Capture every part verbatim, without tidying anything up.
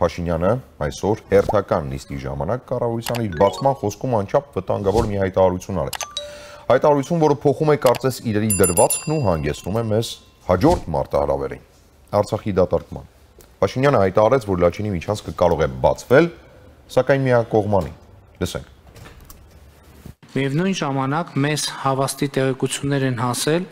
Փաշինյանը այսօր հերթական նիստի ժամանակ կառավարության իր բացման խոսքում անչափ վտանգավոր մի հայտարարություն արեց։ Հայտարարություն, որը փոխում է կարծես իրերի դրվածքն ու հանգեցնում է մեզ հաջորդ մարտահրավերին, Արցախի դատարկման։ Փաշինյանը հայտարարեց, որ Լաչինի միջանցքը կարող է բացվել, սակայն միակողմանի։ Լսենք։ Միևնույն ժամանակ մեզ հավաստի տեղեկություններ են հասել,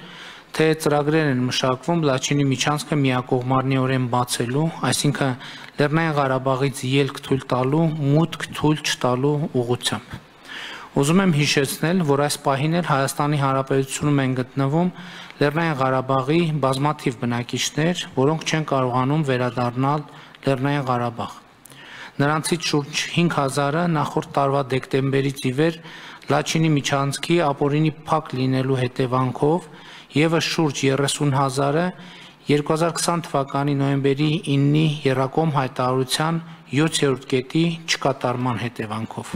թե ծրագրեր են մշակվում Լաչինի միջանցքը միակողմարնիորեն բացելու, այսինքն Լեռնային Ղարաբաղից ելք թույլ տալու, մուտք թույլ չտալու ուղղությամբ։ Ուզում եմ հիշեցնել, որ այս պահին էլ Հայաստանի Հանրապետությունում են գտնվում Լեռնային Ղարաբաղի բազմաթիվ բնակիչներ, որոնք չեն կարողանում վերադառնալ Լեռնային Ղարաբաղ։ Նրանցից շուրջ հինգ հազարը նախորդ տարվա դեկտեմբերից ի վեր Լաչինի միջանցքի ապօրինի փակ լինելու հետևանքով եւս շուրջ երեսուն հազարը երկու հազար քսան թվականի նոյեմբերի իննի Եռակոմ հայտարարության յոթերորդ կետի չկատարման հետևանքով։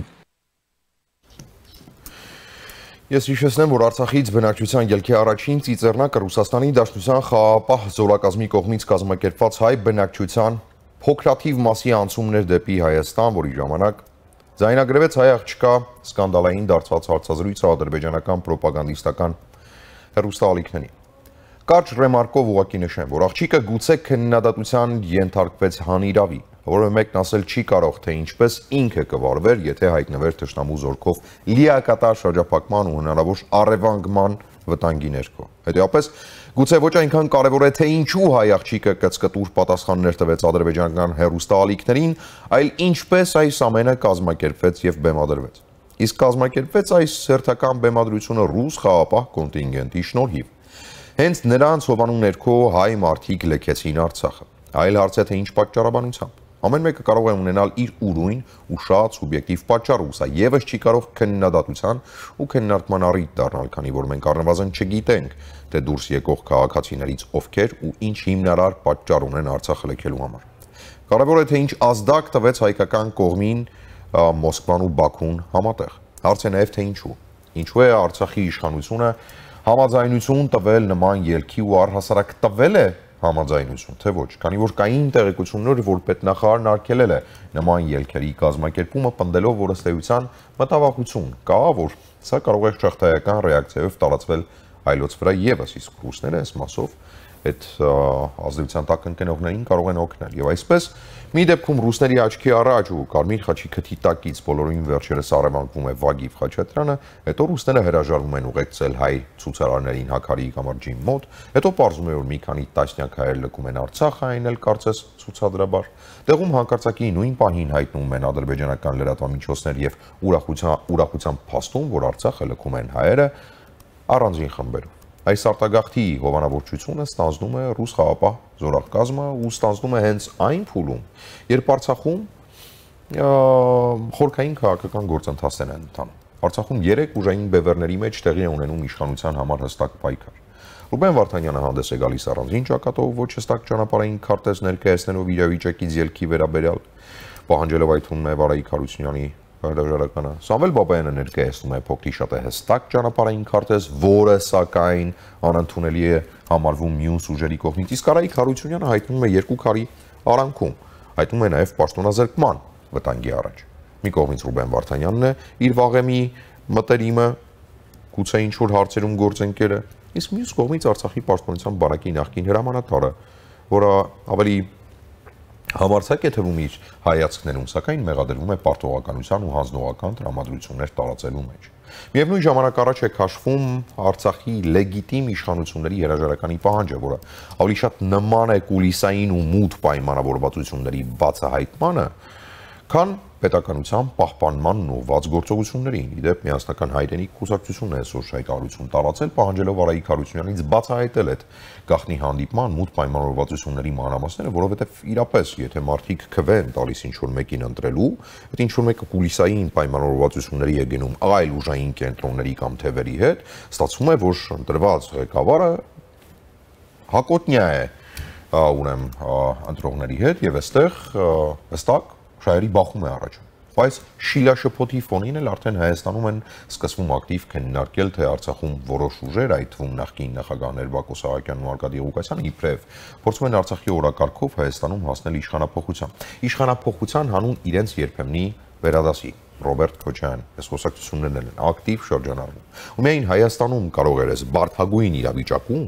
Ես հիշեցնեմ, որ Արցախից բնակչության ելքի առաջին ծիծեռնակը Ռուսաստանի Դաշնության խաղաղապահ զորակազմի կողմից կազմակերպված հայ բնակչության փոքրաթիվ մասի անցումներ դեպի Հայաստան, որի ժամանակ ձայնագրվեց հայ աղջկա սկանդալային դարձված հարցազրույցը ադրբեջանական պրոպագանդիստական հեռուստաալիքներին։ Կարճ ռեմարկով ուղղակի նշեմ, որ աղջիկը գուցե քննադատության ենթարկվեց հանիրավի, որը մեկն ասել չի կարող, թե ինչպես ինքը կվարվեր, եթե հայտնվեր թշնամու զորքով լիակատար շրջափակման ու հնարավոր առևանգման վտանգի ներքո։ Հետևաբար, գուցե ոչ այնքան կարևոր է, թե ինչու հայ աղջիկը կծկտուր պատասխաններ տվեց ադրբեջանական հեռուստաալիքներին, այլ ինչպես այս ամենը կազմակերպվեց եւ բեմադրվեց։ Իսկ կազմակերպվեց այս հերթական բեմադրությունը ռուս խաղաղապահ կոնտինգենտի շնորհիվ։ Հենց նրանց հովանու ներքո հայ մարդիկ լքեցին Արցախը։ Այլ հարց է, թե ինչ պատճառաբանությամբ։ Ամեն մեկը կարող է ունենալ իր ուրույն ու շատ սուբյեկտիվ պատճառը, սա եւս չի կարող քննադատության ու քննարկման առիթ դառնալ, քանի որ մենք առնվազն չգիտենք, թե դուրս եկող քաղաքացիներից ովքեր ու ինչ հիմնարար պատճառ ունեն Արցախը լքելու համար։ Կարևոր է, թե ինչ ազդակ տվեց հայկական կողմին Մոսկվան ու Բաքուն համատեղ։ Հարց է նաեւ, թե ինչու։ Ինչու է Արցախի իշխանությունը համաձայնություն տվել նման ելքի ու առհասարակ տվել է համաձայնություն, թե ոչ, քանի որ կային տեղեկություններ, որ պետնախարարն արգելել է նման ելքերի կազմակերպումը, պնդելով, որ ըստ էության մտավախություն կա, որ սա կարող է շղթայական ռեակցիայով տարածվել այլոց վրա եւս, իսկ ռուսները այս մասով այդ ազդեցության տակ ընկնողներին կարող են օգնել։ Եվ այսպես մի դեպքում ռուսների աչքի առաջ ու Կարմիր խաչի քթի տակից բոլորին վերջերս առևանգվում է Վագիվ Խաչատրյանը, հետո ռուսները հրաժարվում են ուղեկցել հայ ցուցարարներին Հակարիի կամրջի մոտ, հետո պարզում է, որ մի քանի տասնյակ հայեր լքում են Արցախը, այն էլ կարծես ցուցադրաբար։ Տեղում հանկարծակի նույն պահին հայտնում են ադրբեջանական լրատվամիջոցներ եւ ուրախության ուրախության փաստում, որ Արցախը լքում են հայերը առանձին խմբերով։ Այս արտագաղթի հովանավորչությունը ստանձնում է ռուս խաղաղապահ զորակազմը ու ստանձնում է հենց այն փուլում, երբ Արցախում խորքային քաղաքական գործընթացներ են ընթանում։ Արցախում երեք ուժային բևեռների մեջ տեղի է ունենում իշխանության համար հստակ պայքար։ Ռուբեն Վարդանյանը հանդես է գալիս առանձին ճակատով, ոչ հստակ ճանապարհային քարտեզ ներկայացնելով իրավիճակից ելքի վերաբերյալ, պահանջելով այթունն է Վարայի Քարությունյանի հրաժարականը։ Սամվել Բաբայանը ներկայացնում է փոքրի շատ է հստակ ճանապարհային քարտեզ, որը սակայն անընդունելի է համարվում մյուս ուժերի կողմից, իսկ Արայիկ Հարությունյանը հայտնում է երկու քարի արանքում, հայտնում է նաև պաշտոնազրկման վտանգի առաջ։ Մի կողմից Ռուբեն Վարդանյանն է իր վաղեմի մտերիմը, գուցե ինչ-որ հարցերում գործընկերը, իսկ մյուս կողմից Արցախի պաշտպանության բանակի նախկին հրամանատարը, որը ավելի համարձակ է թվում իր հայացքներում, սակայն մեղադրվում է պարտողականության ու հանձնողական տրամադրություններ տարածելու մեջ։ Միևնույն ժամանակ առաջ է քաշվում Արցախի լեգիտիմ իշխանությունների հրաժարականի պահանջը, որը ավելի շատ նման է կուլիսային ու մութ պայմանավորվածությունների բացահայտմանը, քան պետականության պահպանմանն ուղղված գործողություններին։ Իդեպ միասնական հայրենիք կուսակցությունն է այսօր հայտարարություն տարածել, պահանջելով Արայիկ Հարությունյանից բացահայտել այդ գաղտնի հանդիպման մութ պայմանավորվածությունների մանրամասները, որովհետև իրապես, եթե մարդիկ քվեն տալիս ինչ-որ մեկին ընտրելու, այդ ինչ-որ մեկը կուլիսային պայմանավորվածությունների է գնում այլ ուժային կենտրոնների կամ թևերի հետ, ստացվում է, որ ընտրված ղեկավարը հակոտնյա է ուրեմն ընտրողների հետ եւ այստեղ հստակ շահերի բախում է առաջ։ Բայց շիլաշփոթի ֆոնին էլ արդեն Հայաստանում են սկսվում ակտիվ քննարկել, թե Արցախում որոշ ուժեր, այդ թվում նախկին նախագահներ Բակո Սահակյանն ու Արկադի Ղուկասյանը իբրև փորձում են Արցախի օրակարգով Հայաստանում հասնել իշխանափոխության։ Իշխանափոխության հանուն իրենց երբեմնի վերադասի Ռոբերտ Քոչարյան, այս խոսակցություններն են ակտիվ շրջանառվում։ Ու միայն Հայաստանում կարող էր այս բարդագույն իրավիճակում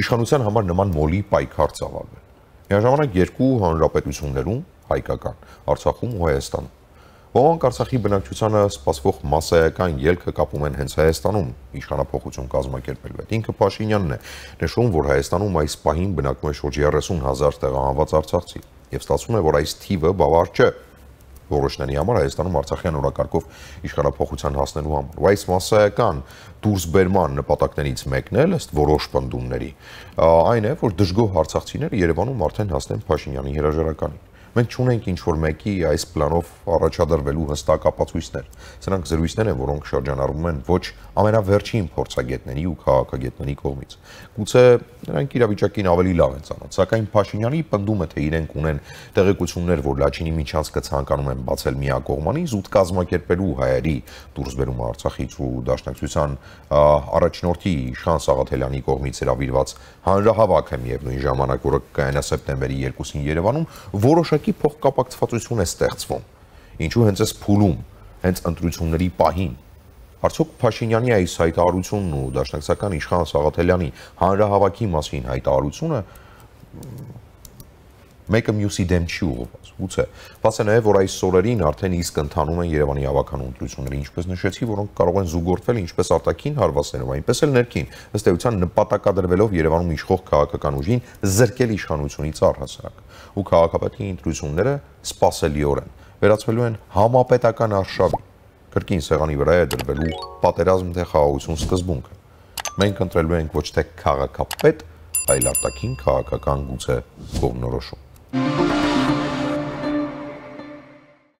իշխանության համար նման մոլի պայքար ծավալվել։ Միաժամանակ երկու հանրապետություններում հայկական, Արցախում ու Հայաստանում։ Ոմանք Արցախի բնակչությանը սպասվող մասսայական ելքը կապում են հենց Հայաստանում իշխանափոխություն կազմակերպել։ Ինքը Փաշինյանն է նշում, որ Հայաստանում այս պահին բնակվում է շուրջ երեսուն հազար տեղահանված արցախցի, եւ ստացվում է, որ այս թիվը բավարար չէ որոշների համար Հայաստանում Արցախյան օրակարգով իշխանափոխության հասնելու համար։ Ու այս մասսայական դուրսբերման նպատակներից մեկն էլ ըստ որոշ պնդումների այն է, որ դժգոհ արցախցիները Երևանում արդեն հասնեն Փաշինյանի հրաժարականին։ Մենք չունենք ինչ-որ մեկի այս պլանով առաջադրվելու հստակ ապացույցներ։ Սրանք զրույցներ են, որոնք շրջանառվում են ոչ ամենավերջին փորձագետների ու քաղաքագետների կողմից։ Գուցե նրանք իրավիճակին ավելի լավ են ծանոթ, սակայն Փաշինյանի պնդումը, թե իրենք ունեն տեղեկություններ, որ Լաչինի միջանցքը ցանկանում են բացել միակողմանի, զուտ կազմակերպելու հայերի դուրսբերումը Արցախից ու Դաշնակցության առաջնորդի Իշխան Սաղաթելյանի կողմից հրավիրված հանրահավաքը միևնույն ժամանակ, որը կայանա սեպտեմբերի երկուսին Երևանում, որոշակի փոխկապակցվածություն է ստեղծվում։ Ինչու հենց այս փուլում, հենց ընտրությունների պահին Արդյոք Փաշինյանի այս հայտարարությունն ու Դաշնակցական Իշխան Սաղաթելյանի հանրահավաքի մասին հայտարարությունը մեկը մյուսի դեմ չի ուղղված։ Գուցե, բաց է նաև, որ այս օրերին արդեն իսկ ընթանում են Երևանի հավաքանու ընտրությունները, ինչպես նշեցի, որոնք կարող են զուգորդվել ինչպես արտաքին հարվածներով, այնպես էլ ներքին, ըստ էության նպատակադրվելով Երևանում իշխող քաղաքական ուժին զրկել իշխանությունից առհասարակ։ Ու քաղաքապետի ընտրությունները սպասելիորեն վերածվելու են համապետական արշավի։ Կրկին սեղանի վրա է դրվելու պատերազմ թե խաղաղություն սկզբունքը։ Մենք ընտրելու ենք ոչ թե քաղաքապետ, այլ արտաքին քաղաքական գուցե կողմնորոշում։